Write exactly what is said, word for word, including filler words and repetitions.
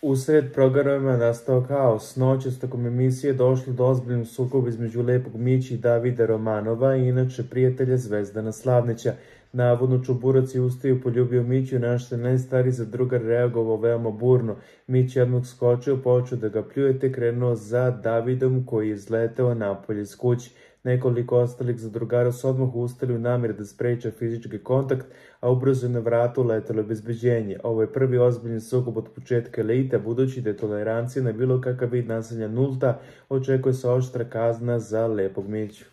Usred programa je nastao haos. Noćas tokom emisije došlo do ozbiljnog sukoba između Lepog Miće i Davida Romanova i inače prijatelja Zvezdana Slavnića. Navodno Čuburac je ustao i poljubio Miću, na što je najstariji za drugar reagovao veoma burno. Mić je odmah skočio, počeo da ga pljuje te krenuo za Davidom koji je izleteo napolje iz kuće. Nekoliko ostalih zadrugara su odmah ustali u namjeri da spreče fizički kontakt, a ubrzo je na vratu letelo obezbeđenje. Ovo je prvi ozbiljni sukob od početka elite, budući da je tolerancija na bilo kakav vid nasilja nulta, očekuje se oštra kazna za Lepog Miću.